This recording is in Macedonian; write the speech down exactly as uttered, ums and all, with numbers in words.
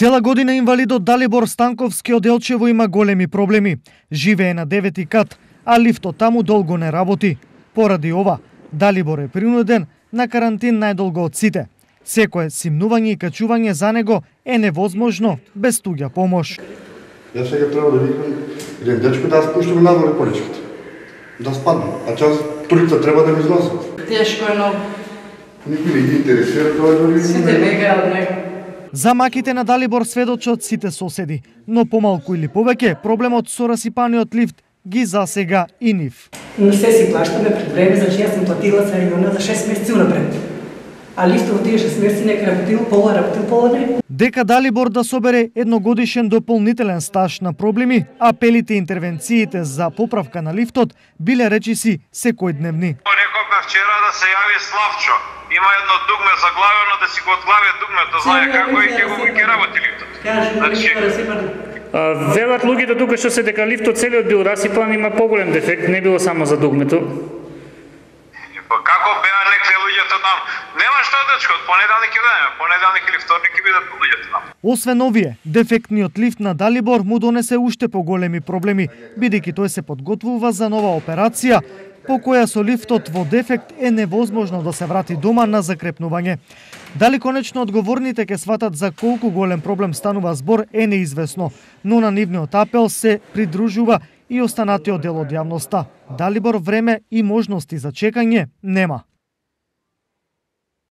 Цела година инвалидот Далибор Станковски од Елчево има големи проблеми. Живее на девети кат, а лифтот таму долго не работи. Поради ова, Далибор е принуден на карантин најдолго од сите. Секое симнување и качување за него е невозможно без туѓа помош. Јас сега треба да викам еден дечко да спуштаме надолу поличките. Да спаднем, а час турица треба да ми износат. Тешко е многу. Никој не ги интересира тоа дори. Сите бегаат од него. За маките на Далибор сведочат сите соседи, но помалку или повеќе проблемот со расипаниот лифт ги засега и нив. Но се си плащаме пред време, значи јас сум платила за региона за шест месеци унапред. А лифтот тие шест месеци нека работил пола, работил пола не. Дека Далибор да собере едногодишен дополнителен стаж на проблеми, апелите и интервенциите за поправка на лифтот биле речиси секојдневни. Рековме вчера да се јави Славчо. Има едно дугме заглавено да си го отглавя дугмето, знае како и ќе го ќе работи лифтот. Значи, велат луѓето тука што се дека лифтот целиот бил расипан, има поголем дефект, не било само за дугмето. Па како беа некои луѓето там? Нема што дечко, од понеделник ќе дојдеме, понеделник или вторник ќе бидат луѓето там. Освен овие, дефектниот лифт на Далибор му донесе уште поголеми проблеми, бидејќи тој се подготвува за нова операција, по која со лифтот во дефект е невозможно да се врати дома на закрепнување. Дали конечно одговорните ќе сватат за колку голем проблем станува збор е неизвестно, но на нивниот апел се придружува и останатиот дел од јавноста. Далибор време и можности за чекање нема.